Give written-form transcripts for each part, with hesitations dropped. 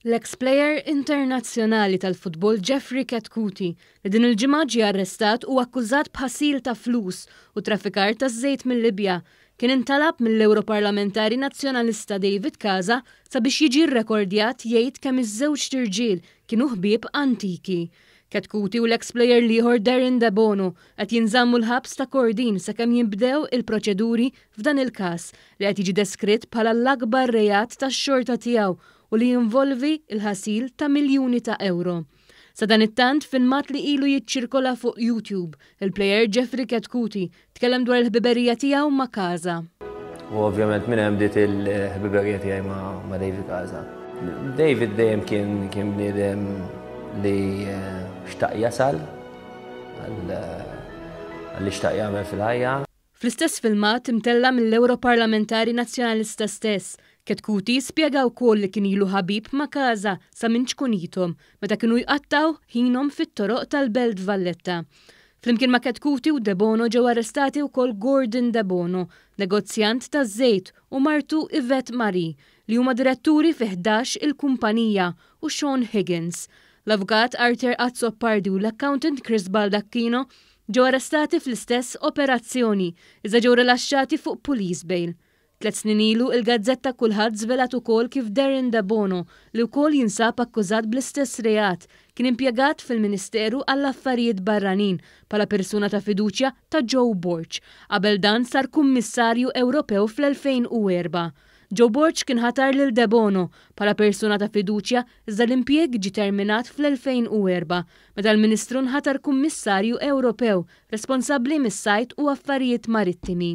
L-eks plejer internazzjonali tal-futbol Jeffrey Chetcuti, li din il-ġimgħa ġie arrestat u akkużat b'ħasil ta' flus u traffikar ta' żejt mil-Libja, kien intalab mill-Ewroparlamentari Nazzjonalista David Casa sabiex jiġi rrekordjat jgħid kemm iż-żewġt irġiel kienu ħbieb antiki. Chetcuti u l-eks plejer l-ieħor Darren Debono qed jinżammu l-ħabs ta' Kordin sakemm jinbdew il-proċeduri f'dan il-każ li qed jiġi deskritt bħala l-akbar reat tax-xorta tiegħu u li jinvolvi l-ħasil ta' miljuni ta' ewro. Sadanittant, filmat li ilu jiċċirkola fuq YouTube, il-plejer Jeffrey Chetcuti tkellem dwar il-ħbiberija tiegħu ma' Casa. U ovvjament minn hemm bdiet il-ħbiberija tiegħi ma' David Casa. David dejjem kien kien bniedem li eh, xtaq jasal għal li xtaq jagħmel fil-ħajja. Fl-istess filmat imtella' mill-Ewroparlamentari Nazzjonalista stess, Chetcuti spjega wkoll li kien ilu ħabib ma' Casa sa minn ċkunithom, meta kienu jqattgħu ħinhom fit-toroq tal-Belt Valletta. Flimkien ma' Chetcuti u Debono ġew arrestati wkoll Gordon Debono, negozjant taż-żejt, u martu Yvette Marie, li huma diretturi fi 11 il-kumpanija, u Sean Higgins. L-Avukat Arthur Azzopardi u l-accountant Chris Baldacchino ġew arrestati fl-istess operazzjoni, iżda ġew rilaxxati fuq police bail. Tliet snin ilu, il-gazzetta Kulħadd żvelat ukoll kif Darren Debono, li wkoll jinsab akkużat bl-istess reat, kien impjegat fil-Ministeru għall-Affarijiet Barranin bħala persuna ta' fiduċja ta' Joe Borg, qabel dan sar Kummissarju Ewropew fl-2004. Joe Borg kien ħatar lil Debono bħala persuna ta' fiduċja iżda l-impjieg ġie terminat fl-2004 meta l-Ministru nħatar Kummissarju Ewropew responsabbli mis-Sajd u Affarijiet Marittimi.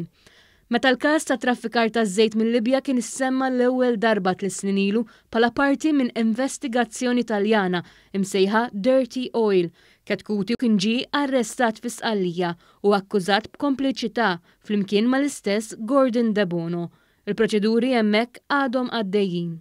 Meta l-każ ta' traffikar taż-żejt mil-Libja kien issemma l-ewwel darba tliet snin ilu bħala parti minn investigazzjoni Taljana imsejħa Dirty Oil, Chetcuti kien ġie arrestat fi Sqallija u akkużat b'kompliċità flimkien mal-istess Gordon Debono. Il-proċeduri hemmhekk għadhom għaddejjin.